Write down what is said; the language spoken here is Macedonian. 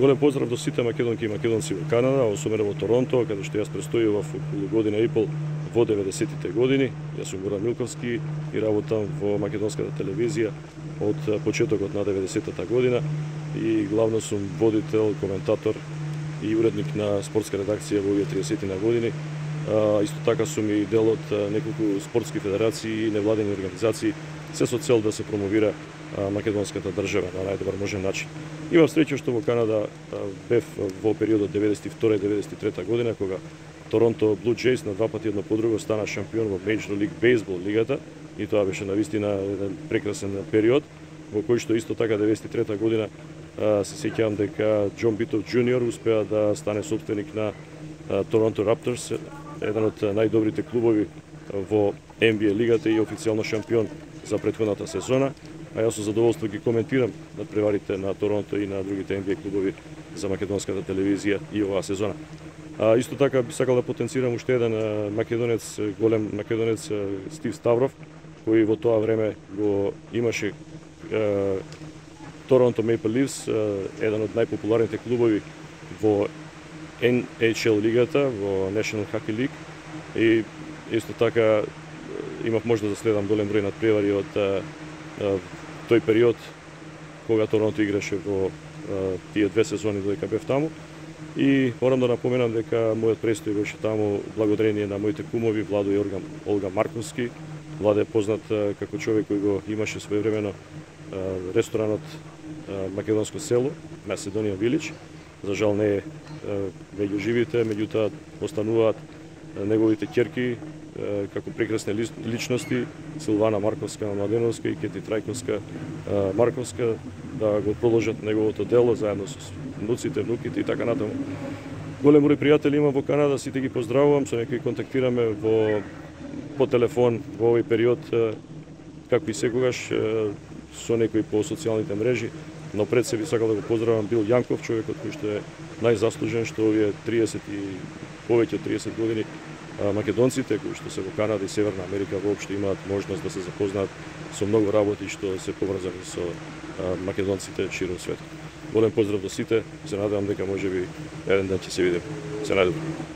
Голем поздрав до сите македонки и македонци во Канада, особено во Торонто, каде што јас престојував околу година и пол во 90-тите години. Јас сум Горан Милковски и работам во македонската телевизија од почетокот на 90-та година и главно сум водител, коментатор и уредник на спортска редакција во овие 30-ти години. Исто така сум и дел од неколку спортски федерации и невладени организации, се со цел да се промовира македонската држава на најдобар можен начин. Имав среќа што во Канада бев во периодот 92-93 година, кога Торонто Blue Jays на два пати едно по друго стана шампион во Major League Baseball лигата и тоа беше навистина еден прекрасен период, во кој што исто така 93 година се сеќавам дека Џон Битов Џуниор успеа да стане собственик на Торонто Raptors, еден од најдобрите клубови во NBA лигата и официјално шампион за претходната сезона. А јас со задоволство ги коментирам надпреварите на Торонто и на другите NBA клубови за македонската телевизија и оваа сезона. Исто така би сакал да потенцирам уште еден македонец, голем македонец Стив Ставров, кој во тоа време го имаше Торонто Maple Leafs, еден од најпопуларните клубови во NHL лигата, во National Hockey League, и исто така имав можност да следам голем број надпревари од тој период кога Торонто играше во тие две сезони додека бев таму. И морам да напоменам дека мојот престој беше таму благодарение на моите кумови Владо и Олга Марковски. Владо е познат како човек кој го имаше своевремено ресторанот Македонско село, Macedonian Village. За жал не е меѓу живите, меѓутоа остануваат неговите ќерки како прекрасни личности, Силвана Марковска Младеновска и Кети Трајковска Марковска, да го продолжат неговото дело заедно со внуците, внуките и така натаму. Голем број пријатели имам во Канада, сите ги поздравувам, со некои контактираме по телефон во овој период, како и секогаш, со некои по социјалните мрежи, но пред се би сакал да го поздравам Бил Јанков, човекот кој што е најзаслужен, што овие 30 и повеќе од 30 години македонците кои што се во Канада и Северна Америка воопшто имаат можност да се запознаат со многу работи што се поврзани со македонците широм светот. Голем поздрав до сите, се надевам дека можеби еден ден ќе се видиме. Се најдобро.